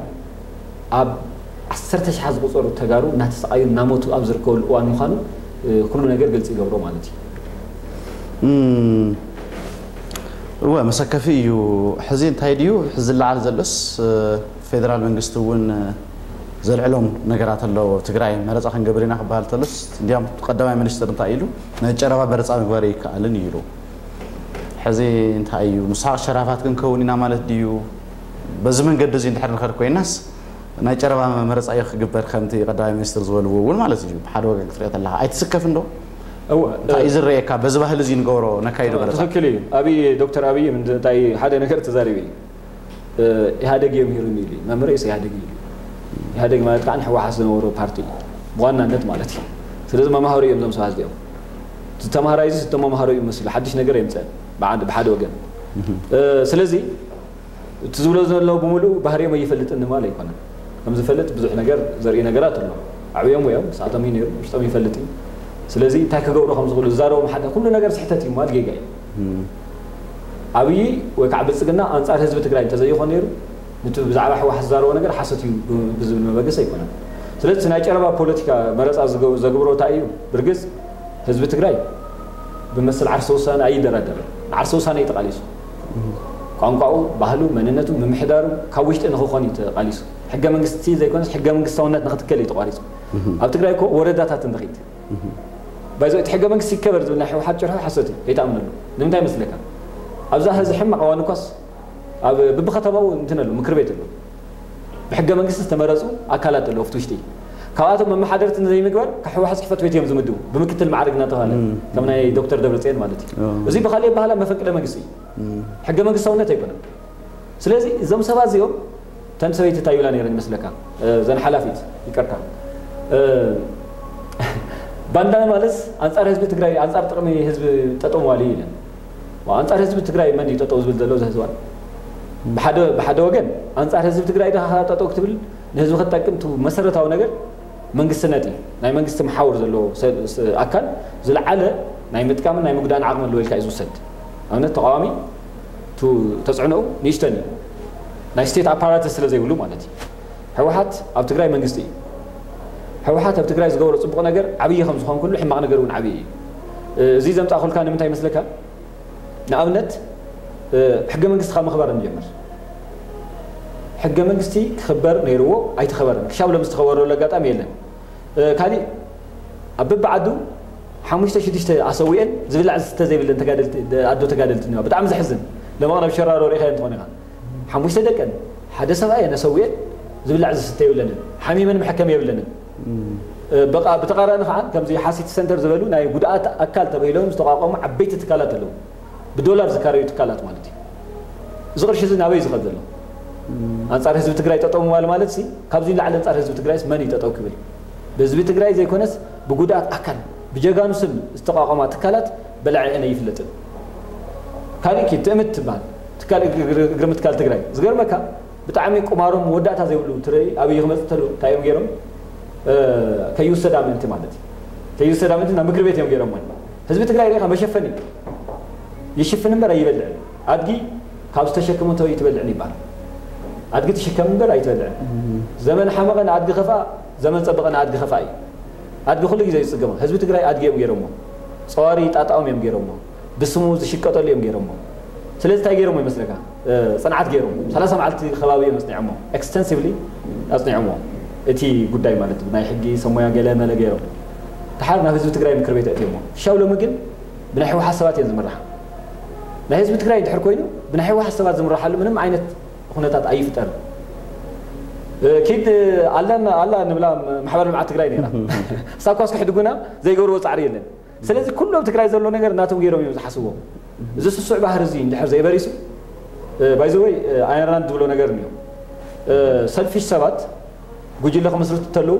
ኣብ ዓሰርተ ሽሓት ዝቁፀሩ ተጋሩ እናተሰቃዩ እናሞቱ ኣብ ዝርከበሉ እዋን ምዃኑ ኩሉ ነገር ግልፂ ይገብሮ ማለት እዩ። እወ፣ መሰከፊ እዩ። ሕዚ እንታይ ድዩ ሕዚ ዝለዓል ዘሎስ? ፌደራል መንግስቲ እውን ዘልዕሎም ነገራት ኣለዎ። ትግራይ መረፃ ክንገብር ኢና ክበሃል ተሎስ እንዲያም ቀዳማይ ሚኒስትር እንታይ ኢሉ? ናይ ጨረባ መረፃ ምግባር ይከኣልን እዩ ኢሉ። ሕዚ እንታይ እዩ? ምሳቕ ሸራፋት ክንከውን ኢና ማለት ድዩ? በዚ መንገዲ እዚ እንድሕር ንኸድ ኮይናስ ናይ ጨረባ መረፃ እዩ ክግበር ከምቲ ቀዳማይ ሚኒስትር ዝበልዎ እውን ማለት እዩ። ብሓደ ወገን ክትሪኦ ተለካ ኣይትስከፍን ዶ? እንታይ እዩ ዝረየካ? በዚ ባህሊ እዚ ንገብሮ ነካይዶ መረፃ? ትኽክል እዩ። ኣብይ ዶክተር ኣብይ እንታይ ሓደ ነገር ተዛሪቡ እዩ። ኢህኣደግ እዮም ሂሩኒ ኢሉ እዩ። መምህር ኢሰ ኢህኣደግ እዩ ኢሉ። ኢህኣደግ ማለት ከዓ ንህወሓት ዝነበሮ ፓርቲ እዩ ብዋናነት ማለት እዩ። ስለዚ መማሃሩ እዮም እዞም ሰባት እዚኦም። ዝተማሃራይ እዚ ዝተመማሃሩ እዩ መሲሉ ሓድሽ ነገር የምፀን ብሓደ ወገን። ስለዚ እቲ ዝብሎ ዘሎ ብምሉእ ባህሪኦም ኣይፈልጥን ንምባል ኣይኮነን። ከም ዝፈልጥ ብዙሕ ነገር ዘርኢ ነገራት ኣሎ። ኣዕብዮም እዮም፣ ስኣቶም እዩ ነይሩ፣ ውሽጦም ይፈልጥ እዩ። ስለዚ እንታይ ክገብሩ ከም ዝኽእሉ ዝዛረቦም ሓደ ኩሉ ነገር ስሕተት እዩ ምባል ጌጋ እዩ። ኣብይ ወይ ከዓ ብልፅግና ኣንፃር ህዝቢ ትግራይ እንተዘይኾን ነይሩ ንቲ ብዛዕባ ህወሓት ዝዛረቦ ነገር ሓሰት እዩ ብዝብል መበገሲ ኣይኮነን። ስለዚ ናይ ጨረባ ፖለቲካ መረፃ ዘግብሮ እንታይ እዩ? ብርግፅ ህዝቢ ትግራይ ብመስል ዓርሰ ውሳነ ኣይደራደርን። ንዓርሰ ውሳነ እዩ ተቃሊሱ። ቋንቋኡ፣ ባህሉ፣ መንነቱ፣ ምምሕዳሩ ካብ ውሽጢ ንክኾን እዩ ተቃሊሱ። ሕገ መንግስቲ ዘይኮነስ ሕገ መንግስታውነት ንክትከል እዩ ተቋሪፁ። ኣብ ትግራይ እኮ ወረዳታት እንድኺድ ባይዞ እቲ ሕገ መንግስቲ ይከበር ዝብል ናይ ህወሓት ጭርሖ ሓሶት እዩ። ከይትኣምነሉ። ንምንታይ መስለካ? ኣብዛ ህዚ ሕማቕ እዋን እኳስ ኣብ ብብከተማኡ እንትን ኣሎ ምክር ቤት ኣሎ። ብሕገ መንግስቲ ዝተመረፁ ኣካላት ኣለዉ ኣብቲ ውሽጢ። ካብኣቶም መመሓደርቲ ንዘይምግባር ካብ ህወሓት ፅሕፈት ቤት እዮም ዝምድቡ ብምክትል ማዕርግ እናተባሃለ ከም ናይ ዶክተር ደብረፅዮን ማለት እዩ። እዚ ብካሊእ ኣባህላ መፈንቅለ መንግስቲ እዩ። ሕገ መንግስታውነት ኣይኮነን። ስለዚ እዞም ሰባት እዚኦም ተን ሰበይቲ እንታይ ይብላ ነይረን ይመስለካ? እዘን ሓላፊት ይቅርታ ባንዳ ማለት ኣንፃር ህዝቢ ትግራይ ኣንፃር ጥቅሚ ህዝቢ ጠጠው ምባል እዩ ኢለን። ኣንፃር ህዝቢ ትግራይ መን እዩ ጠጠው ዝብል ዘሎ እዚ ህዝባን? ብሓደ ወገን ኣንፃር ህዝቢ ትግራይ ዲኻ ጠጠው ክትብል ንህዝቢ ክትጠቅም እቲ መሰረታዊ ነገር መንግስትነት እዩ። ናይ መንግስቲ መሓውር ዘለዎ ኣካል ዝለዓለ ናይ ምጥቃምን ናይ ምጉዳእን ዓቕሚ ኣለዎ ኢልካ እዩ ዝውሰድ። ኣብነት ተቃዋሚ ተፅዕኖኡ ንእሽተን እዩ። ናይ ስቴት ኣፓራተስ ስለ ዘይብሉ ማለት እዩ። ህወሓት ኣብ ትግራይ መንግስቲ እዩ። ህወሓት ኣብ ትግራይ ዝገበሮ ፅቡቕ ነገር ዓብዪ ከም ዝኾን ኩሉ ሕማቕ ነገር እውን ዓብዪ እዩ። እዚ ዘምፃእኩልካ ንምንታይ ይመስለካ? ንኣብነት ሕገ መንግስቲ ካብ ምኽባር ንጀምር። ሕገ መንግስቲ ክኽበር ነይርዎ ኣይተኸበረን። ክሻብ ሎም ዝተኸበረሉ ኣጋጣሚ የለን። ካሊእ ኣብ በብዓዱ ሓሙሽተ ሽዱሽተ ኣሰዊአን ዝብላዕ ዝስተ ዘይብለን ኣዶ ተጋደልቲ እኒዋ። ብጣዕሚ ዘሕዝን። ለመቕረብ ሸራሮ ርኢኻዮ እንትኾን ኢኻ ሓሙሽተ ደቀን ሓደ ሰብኣየን ኣሰዊአን ዝብላዕ ዝስተ የብለንን። ሓሚመን መሐከሚ የብለንን። በቃ ብተቃራኒ ከዓ ከምዚ ሓሲቲ ሰንተር ዝበሉ ናይ ጉድኣት ኣካል ተባሂሎም ዝተቋቋሙ ዓበይቲ ትካላት ኣለዉ። ብዶላር ዝካረዩ ትካላት ማለት እዩ። እዚ ቅርሺ እዚ ናበይ ዝኸድ ዘሎ? ኣንፃር ህዝቢ ትግራይ ጠጠው ምባል ማለት ሲ ካብዚ ላዕሊ ኣንፃር ህዝቢ ትግራይስ መን እዩ ጠጠው ክብል? ብህዝቢ ትግራይ ዘይኮነስ ብጉድኣት ኣካል ብጀጋኑ ስም ዝተቋቋማ ትካላት በላዒአን ኣይፍለጥን። ካሊእ ኪድ ትእምት ትበሃል ትካል እግሪ ምትካል ትግራይ ዝገርመካ ብጣዕሚ ቁማሮም መወዳእታ ዘይብሉ ትርኢ ኣብይ ክመፅእ ተሎ እንታይ እዮም ገይሮም? ከይውሰዳ ምእንቲ ማለት እዩ። ከይውሰዳ ምእንቲ ናብ ምክር ቤት እዮም ገይሮም ማለት ህዝቢ ትግራይ ሪኢኻ መሸፈኒ ይሽፍን እምበር ኣይበልዕን። ኣድጊ ካብ ዝተሸከመቶ ኣይትበልዕን ይበሃል። ኣድጊ ትሽከም እምበር ኣይትበልዕን። ዘመን ሓመቐ ንኣድጊ ከፍኣ፣ ዘመን ፀበቐ ንኣድጊ ከፍኣ እዩ። ኣድጊ ኩሉ ግዜ እዩ ዝፅገሞ። ህዝቢ ትግራይ ኣድጊ እዮም ገይሮሞ። ፀዋሪ ጣጣኦም እዮም ገይሮሞ። ብስሙ ዝሽቀጠሉ እዮም ገይሮሞ። ስለዚ እንታይ ገይሮሞ ይመስለካ? ፅንዓት ገይሮም ሰላሳ መዓልቲ ከባቢ እዮም ኣፅኒዖሞ። ኤክስተንሲቭሊ ኣፅኒዖሞ። እቲ ጉዳይ ማለት ናይ ሕጊ ሰሞያ ገለ መለ ገይሮም ድሓር ናብ ህዝቢ ትግራይ ምክር ቤት ኣእትዮሞ። ሻው ሎሚ ግን ብናይ ህወሓት ሰባት እዮም ዝምራሕ። ናይ ህዝቢ ትግራይ እንድሕር ኮይኑ ብናይ ህወሓት ሰባት ዝምረሓሉ ምንም ዓይነት ኩነታት ኣይፍጠርን። ኪድ ኣላ ንብላ ማሕበር ልምዓት ትግራይ ነይራ። እሳ እኳስ ክሕድጉና ዘይገብርዎ ፃዕሪ የለን። ስለዚ ኩሉ ኣብ ትግራይ ዘሎ ነገር ናቶም ገይሮም እዮም ዝሓስብዎ። እዚ ስሱዕ ባህሪ እዚ እንድሕር ዘይበሪሱ ባይዘወይ ኣየርላንድ ዝብሎ ነገር እኒኦ ሰልፊሽ ሰባት ጉጅለ ክመስርቱ እንተለዉ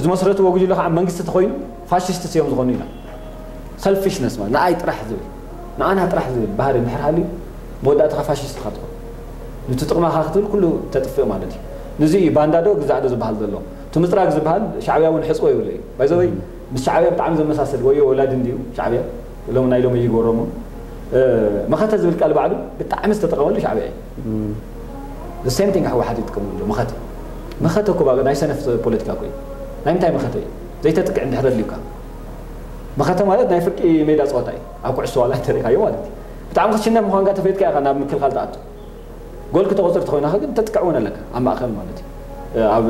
ዝመስረትዎ ጉጅለ ከዓ መንግስቲ ተኮይኑ ፋሽስት እዮም ዝኾኑ ኢና። ሰልፊሽነስ ማለት ንኣይ ጥራሕ ዝብል ንኣና ጥራሕ ዝብል ባህሪ እንድሕር ሃልዩ መወዳእታ ፋሽስት ኢኻ ትኾን። ነቲ ጥቕማኻ ክትብል ኩሉ ተጥፍእ ማለት እዩ። ንዚ እዩ ባንዳ ዶ ግዛዕ ዶ ዝበሃል ዘሎ። እቲ ምፅራግ ዝበሃል ሻዕብያ እውን ሕፅቦ ይብሎ እዩ። ባይዘወይ ምስ ሻዕብያ ብጣዕሚ ዘመሳሰል ወዮ ወላዲ እንዲዩ ሻዕብያ ሎም ናይ ሎም ይጎረሙ። መኸተ ዝብል ቃል ባዕሉ ብጣዕሚ ዝተጠቐመሉ ሻዕብያ እዩ። ሴም ቲንግ ህወሓት ይጥቀመሉ መኸተ። መኸተ እኮ ባእ ናይ ሰነፍ ፖለቲካ እኮ እዩ። ናይ ምንታይ መኸተ እዩ? ዘይተጥቅዕ እንድሕር ኣድልዩካ መኸተ ማለት ናይ ፍርቂ ሜዳ ፀወታ እዩ። ኣብ ኩዕሶ ዋላ እንተሪእካዮ ማለት እዩ። ብጣዕሚ ክትሽነፍ ምዃንካ ተፈይጥካ ኢኻ ናብ ምክልኻል ትኣቱ። ጎል ክተቆፅር ተኾይናኸ ግን ተጥቅዕ እውን ኣለካ ኣብ ማእኸል ማለት እዩ። ኣብ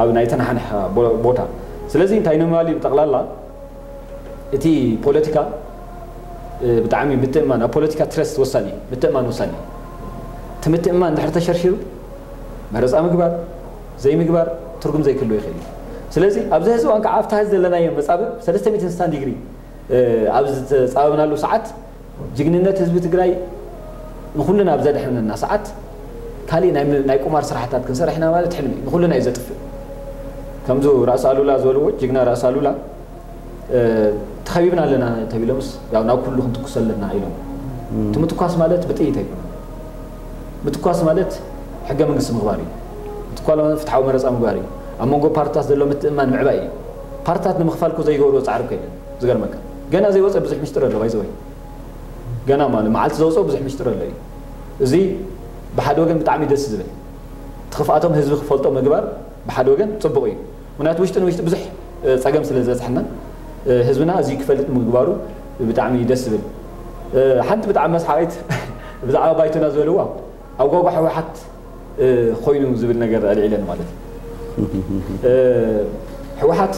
ኣብ ናይ ተናሓንሕ ቦታ። ስለዚ እንታይ ንምባል እዩ ብጠቕላላ እቲ ፖለቲካ ብጣዕሚ ምትእማን ኣብ ፖለቲካ ትረስት ወሳኒ እዩ። ምትእማን ወሳኒ እዩ። እቲ ምትእማን ድሕር ተሸርሺሩ መረፃ ምግባር ዘይምግባር ትርጉም ዘይክህልዎ ይኽእል እዩ። ስለዚ ኣብዚ ሕዚ እዋን ከዓ ኣብታ ሕዚ ዘለናዮ መፃብብ ሰለስተ ሚእትን ስሳን ዲግሪ ኣብ ዝተፃበብናሉ ሰዓት ጅግንነት ህዝቢ ትግራይ ንኩልና ኣብ ዘድሐነና ሰዓት ካሊእ ናይ ቁማር ስራሕታት ክንሰርሕ ኢና ማለት ሕልሚ እዩ። ንኩልና እዩ ዘጥፍእ። ከምዚ ራእሲ ኣሉላ ዝበልዎ ጅግና ራእሲ ኣሉላ ተኸቢብና ኣለና ተቢሎምስ ያው ናብ ኩሉ ክንትኩስ ኣለና ኢሎም። እቲ ምትኳስ ማለት ብጥይት ኣይኮነ። ምትኳስ ማለት ሕገ መንግስቲ ምኽባር እዩ። ምትኳስ ማለት ፍትሓዊ መረፃ ምግባር እዩ። ኣብ መንጎ ፓርትታት ዘሎ ምትእማን ምዕባይ እዩ። ፓርትታት ንምኽፋል እኮ ዘይገብርዎ ፃዕሪ እኮ የለን። ዝገርመካ ገና ዘይወፀ ብዙሕ ሚስጥር ኣሎ ባይዘወይ ገና ማለት መዓልቲ ዘውፅኦ ብዙሕ ሚስጥር ኣሎ እዩ። እዚ ብሓደ ወገን ብጣዕሚ ደስ ዝብል ትኽፍኣቶም ህዝቢ ክፈልጦ ምግባር ብሓደ ወገን ፅቡቕ እዩ። ምክንያቱ ውሽጢ ንውሽጢ ብዙሕ ፀገም ስለ ዝበፅሐና ህዝብና እዚ ክፈልጥ ምግባሩ ብጣዕሚ ደስ ዝብል። ሓንቲ ብጣዕሚ መስሓቂት ብዛዕባ ባይቶና ዝበልዋ ኣብ ጓጓ ህወሓት ኮይኑ ዝብል ነገር ኣልዒለን ማለት እዩ። ህወሓት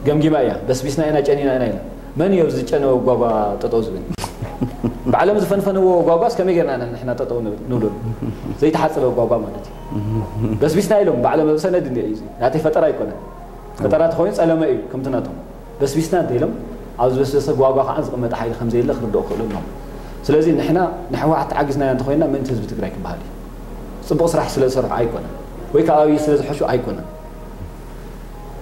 ገምጊማ እያ በስቢስና ኢና ጨኒና ኢና ኢላ። መን እዩ ኣብዚ ዝጨነወ ጓጓ ጠጠው ዝብል? ባዕሎም ዝፈንፈንዎ ጓጓስ ከመይ ጌርና ኢና ንሕና ጠጠው ንብል ንብለሉ? ዘይተሓፀበ ጓጓ ማለት እዩ። በስቢስና ኢሎም ባዕሎም ኣብ ሰነድ እንዲ እዩ። ናተይ ፈጠራ ኣይኮነን። ፈጠራ ተኾይኑ ጸለመ እዩ ከምቲ ናቶም። በስቢስና እንተ ኢሎም ኣብ ዝበስበሰ ጓጓ ከዓ ዝቕመጠ ሓይሊ ከም ዘየለ ክርድኦ ክኽእሉ ኣለዎም። ስለዚ ንሕና ንሕወሓት ተዓጊዝናያ እንተኾይና ምእንቲ ህዝቢ ትግራይ ክበሃል እዩ። ጽቡቕ ስራሕ ስለ ዝሰርሑ ኣይኮነን ወይ ከዓ ኣብይ ስለ ዝሐሹ ኣይኮነን።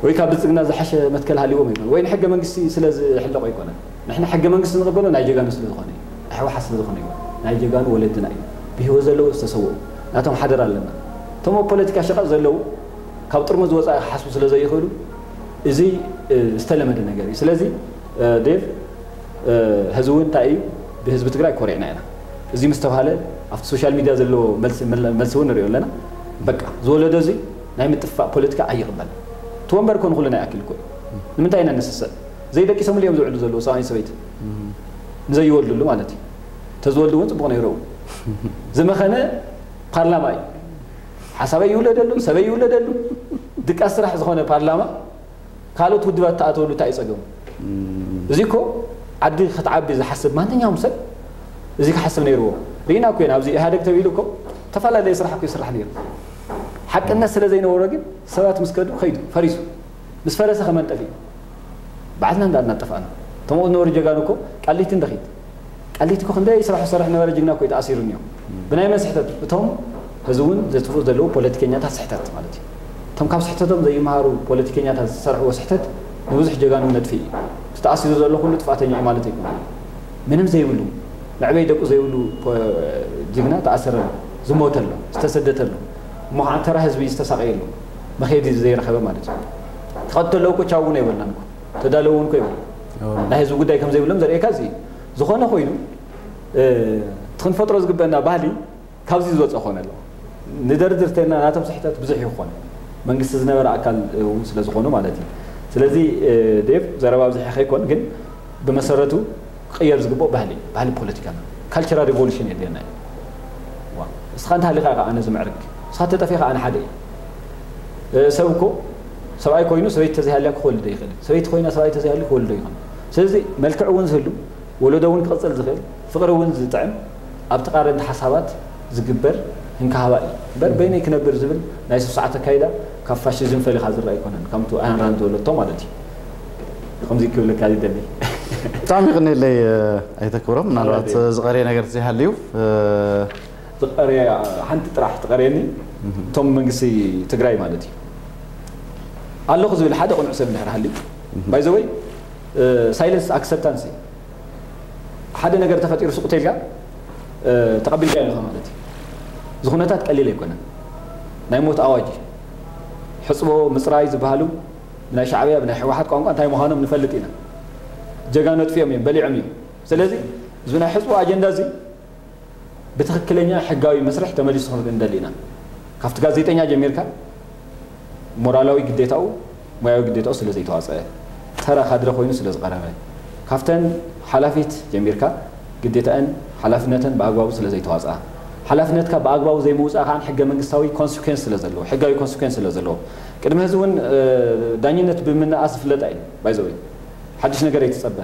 ወይ ካብ ብልፅግና ዝሓሸ መትከል ሃልዎም ኣይኮነ ወይ ንሕገ መንግስቲ ስለ ዝሕለቆ ኣይኮነ። ንሕና ሕገ መንግስቲ ንቕበሎ ናይ ጀጋኑ ስለ ዝኾነ እዩ። ናይ ህወሓት ስለ ዝኾነ እዩ። ናይ ጀጋኑ ወለድና እዩ። ብህይወት ዘለዉ ዝተሰውኡ ናቶም ሓደራ ኣለና። እቶም ኣብ ፖለቲካ ሸቐጥ ዘለዉ ካብ ጥርሙዝ ወፃኢ ክሓስቡ ስለ ዘይኽእሉ እዚ ዝተለመደ ነገር እዩ። ስለዚ ዴቭ ሕዚ እውን እንታይ እዩ ብህዝቢ ትግራይ ኮሪዕና ኢና። እዚ ምስ ተባሃለ ኣብቲ ሶሻል ሚድያ ዘለዎ መልሲ እውን ንሪኦ ኣለና። በቃ ዝወለዶ እዚ ናይ ምጥፋእ ፖለቲካ ኣይቕበል። እቲ ወንበር እኮ ንኩልና ይኣክል እኮ እዩ። ንምንታይ ኢና ንስሰእ? ዘይደቂሶምሉ እዮም ዝውዕሉ ዘለዉ ሰብኣይን ሰበይትን ንዘይወልድሉ ማለት እዩ። ተዝወልዱ እውን ፅቡቕ ነይሩ። ዝመኸነ ፓርላማ እዩ። ሓሳበይ ይውለደሉ፣ ሰበይ ይውለደሉ። ድቃስ ስራሕ ዝኾነ ፓርላማ ካልኦት ውድባት ተኣተወሉ እንታይ እዩ ፀገሙ? እዚ እኮ ዓዲ ክትዓቢ ዝሓስብ ማንኛውም ሰብ እዚ ክሓስብ ነይርዎ። ርኢና እኮ ኢና ኣብዚ ኢህኣደግ ተቢሉ እኮ ተፈላለየ ስራሕ እኮ ይስራሕ ነይሩ። ሓቅነት ስለ ዘይነበሮ ግን ሰባት ምስ ከዱ ከይዱ ፈሪሱ። ምስ ፈረሰ ከመንጠፍ እዩ። ባዕልና እንዳ እናጠፋእና እቶም ዝነበሩ ጀጋኑ እኮ ቃሊቲ እንደኺድ ቃሊቲ እኮ ክንደይ ስራሕ ዝሰርሕ ነበረ ጅግና እኮ እዩ ተኣሲሩ እኒኦ። ብናይ መን ስሕተት? እቶም ሕዚ እውን ዘጥፍኡ ዘለዉ ፖለቲከኛታት ስሕተት ማለት እዩ። እቶም ካብ ስሕተቶም ዘይመሃሩ ፖለቲከኛታት ዝሰርሕዎ ስሕተት ንብዙሕ ጀጋኑ ነጥፊ እዩ። እቲ ተኣሲሩ ዘሎ ኩሉ ጥፋተኛ እዩ ማለት ኣይኮነን። ምንም ዘይብሉ መዕበይ ደቁ ዘይብሉ ጅግና ተኣሰረ ኣሎ፣ ዝሞተ ኣሎ፣ ዝተሰደተ ኣሎ፣ እሞ ከዓ ተራ ህዝቢ ዝተሳቀየ ኣሎ፣ መኸየዲ ዘይረኸበ ማለት እዩ። ክቐትሉ እኮ ቻው እውን ኣይበልናን እኮ ተዳለዉ እውን እኮ ይበሉ። ናይ ህዝቢ ጉዳይ ከም ዘይብሎም ዘርእየካ እዚ እዩ። ዝኾነ ኮይኑ እቲ ክንፈጥሮ ዝግበአና ባህሊ ካብዚ ዝወፀ ክኾነ ኣለዎ። ንደርድር ተልና ናቶም ስሕተት ብዙሕ ይኾነ መንግስቲ ዝነበረ ኣካል እውን ስለ ዝኾኑ ማለት እዩ። ስለዚ ዴቭ ዘረባ ኣብዚሐ ከይኮን ግን ብመሰረቱ ክቕየር ዝግብኦ ባህሊ ባህሊ ፖለቲካና ካልቸራል ሪቮሉሽን የድልየና እዩ። እስኻ እንተሃሊኻ ኢኻ ኣነ ዝምዕርግ፣ እስኻ ተጠፊኻ ኣነ ሓደ እዩ። ሰብ እኮ ሰብኣይ ኮይኑ ሰበይቲ ተዘይሃልያ ክወልድ ይኽእል። ሰበይቲ ኮይና ሰብኣይ ተዘይሃልዩ ክወልዶ ይኽእል። ስለዚ መልክዕ እውን ዝህሉ ወለዶ እውን ክቕፅል ዝኽእል ፍቕሪ እውን ዝጥዕም ኣብ ተቓረንቲ ሓሳባት ዝግበር እንካሃባ እዩ እምበር በይነይ ክነብር ዝብል ናይ ስሱዓት ኣካይዳ ካብ ፋሽዝም ፈሊኻ ዝረኣ ኣይኮነን። ከምቲ ኣያን ራንድ ዝበለቶ ማለት እዩ። ከምዚ ክብለካ ይደሊ። ብጣዕሚ ይቕንየለይ ኣይተክብሮም። ምናልባት ዝቐርየ ነገር ዘይሃልዩ ዝቐርየ ሓንቲ ጥራሕ ትቐርየኒ እቶም መንግስቲ ትግራይ ማለት እዩ ኣለኹ ዝብል ሓደ ቅኑዕ ሰብ እንድሕር ሃልዩ ባይዘወይ ሳይለንስ ኣክሰፕታንስ እዩ። ሓደ ነገር ተፈጢሩ ስቕ ተልካ ተቐቢልካ ኣለኻ ማለት እዩ። እዚ ኩነታት ቀሊል ኣይኮነን። ናይ ሞት ኣዋጅ እዩ። ሕፅቦ ምፅራይ ዝበሃሉ ናይ ሻዕብያ ብናይ ህወሓት ቋንቋ እንታይ ምዃኖም ንፈልጥ ኢና። ጀጋኑ ኣጥፊኦም እዮም፣ በሊዖም እዮም። ስለዚ እዚ ናይ ሕፅቦ ኣጀንዳ እዚ ብትኽክለኛ ሕጋዊ መስርሕ ተመሊሱ ክንርኢ ንደሊ ኢና። ካብቲ ጋዜጠኛ ጀሚርካ ሞራላዊ ግዴታኡ፣ ሞያዊ ግዴታኡ ስለ ዘይተዋፀአ፣ ተራ ካድረ ኮይኑ ስለ ዝቐረበ፣ ካብተን ሓላፊት ጀሚርካ ግዴታኣን ሓላፍነተን ብኣግባቡ ስለ ዘይተዋፅኣ፣ ሓላፍነትካ ብኣግባቡ ዘይምውፃእ ከዓ ሕገ መንግስታዊ ኮንስኩዌንስ ስለ ዘለዎ፣ ሕጋዊ ኮንስኩዌንስ ስለ ዘለዎ፣ ቅድሚ ሕዚ እውን ዳኝነት ብምንኣስ ዝፍለጣ እዩ። ባይዘወይ ሓድሽ ነገር ኣይትፀበ።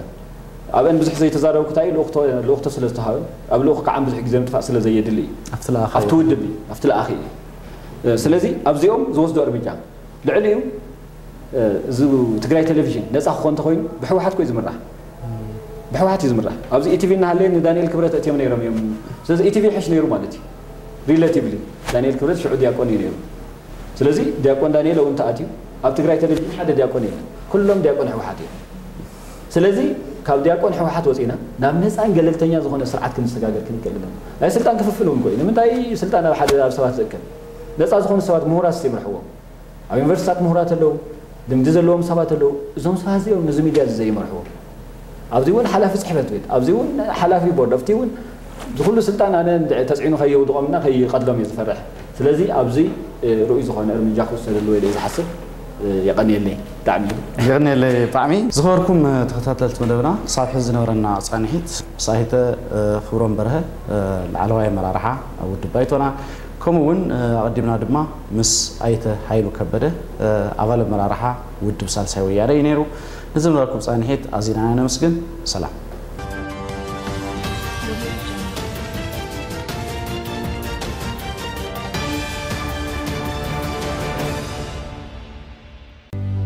ኣብአን ብዙሕ ዘይተዛረብኩ እንታይ ልኡኽቶ ስለ ዝተሃበ ኣብ ልኡኽ ከዓ ብዙሕ ግዜ ምጥፋእ ስለ ዘየድሊ እዩ። ኣብቲ ውድብ እዩ፣ ኣብቲ ለኣኺ እዩ። ስለዚ ኣብዚኦም ዝወስዶ እርምጃ ልዕሊኡ እዚ ትግራይ ቴሌቪዥን ነፃ ክኾን እንተኮይኑ ብሕወሓት ኮይ ዝምራሕ፣ ብሕወሓት እዩ ዝምራሕ። ኣብዚ ኢቲቪ እናሃለየ ንዳንኤል ክብረት እትዮም ነይሮም እዮም። ስለዚ ኢቲቪ ይሕሽ ነይሩ ማለት እዩ። ሪሌቲቭሊ ዳንኤል ክብረት ሽዑ ዲያቆን እዩ ነይሩ። ስለዚ ዲያቆን ዳንኤል እውን ተኣትዩ ኣብ ትግራይ ቴሌቪዥን ሓደ ዲያቆን የለን። ኩሎም ዲያቆን ህወሓት እዮም። ስለዚ ካብ ዲያቆን ህወሓት ወፂና ናብ ነፃን ገለልተኛ ዝኾነ ስርዓት ክንሰጋገር ክንክእል ኣለና። ናይ ስልጣን ክፍፍል እውን ኮይኑ ንምንታይ ስልጣን ኣብ ሓደ ኣብ ሰባት ዝእከብ? ነፃ ዝኾኑ ሰባት ምሁራት ይምርሕዎም። ኣብ ዩኒቨርሲታት ምሁራት ኣለዉ፣ ልምዲ ዘለዎም ሰባት ኣለዉ። እዞም ሰባት እዚኦም ነዚ ሚድያ እዚ ዘይመርሕዎ ኣብዚ እውን ሓላፊ ፅሕፈት ቤት፣ ኣብዚ እውን ሓላፊ ቦርድ፣ ኣብቲ እውን ዝኩሉ ስልጣን ኣነ ተፅዕኑ ከየውድቖምና ከይቀድሎም እየ ዝፈርሕ። ስለዚ ኣብዚ ርኡይ ዝኾነ እርምጃ ክውሰደሉ ወይ ዝሓስብ። የቐንየለይ ብጣዕሚ። የቐንየለይ ብጣዕሚ። ዝኸበርኩም ተኸታተልቲ መደብና ክሳብ ሕዚ ዝነበረና ፃንሒት ምስ ኣይተ ክብሮም በርሀ ላዕለዋይ ኣመራርሓ ውድብ ባይቶና ከምኡ እውን ኣቐዲምና ድማ ምስ ኣይተ ሃይሉ ከበደ ኣባል ኣመራርሓ ውድብ ሳልሳይ ወያነ እዩ ነይሩ። ንዝነበረኩም ፃንሒት ኣዚና ነመስግን። ሰላም።